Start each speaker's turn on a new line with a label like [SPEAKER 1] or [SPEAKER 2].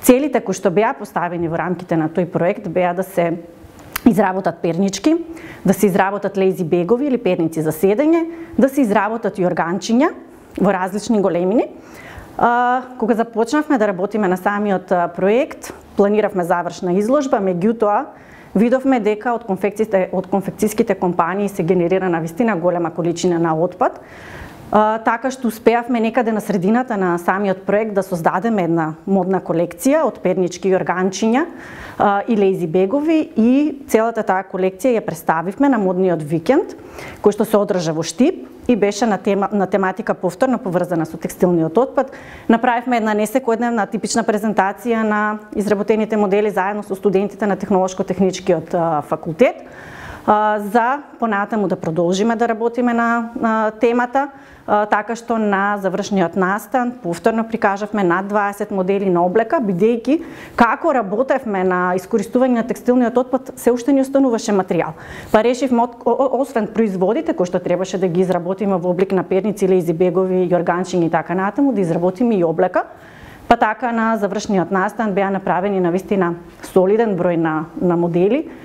[SPEAKER 1] Целите кои што беа поставени во рамките на тој проект беа да се изработат пернички, да се изработат лези бегови или перници за седење, да се изработат јорганчиња во различни големини. Кога започнавме да работиме на самиот проект, планиравме завршна изложба, меѓутоа видовме дека од конфекцијските компании се генерира навистина голема количина на отпад, така што успеавме некаде на средината на самиот проект да создадеме една модна колекција од пернички и органчиња и лези бегови и целата таа колекција ја представивме на модниот викенд, кој што се одржа во Штип и беше на тематика повторно поврзана со текстилниот отпад. Направивме една несекојдневна типична презентација на изработените модели заедно со студентите на Технолошко-техничкиот факултет за понатаму да продолжиме да работиме на темата, така што на завршниот настан повторно прикажавме над 20 модели на облека, бидејќи како работевме на искористување на текстилниот отпад, се уште не остануваше материјал. Па решивме, освен производите кои што требаше да ги изработиме во облик на перници, лези бегови, јорганчиња и така натаму, да изработиме и облека. Па така на завршниот настан беа направени навистина солиден број на модели,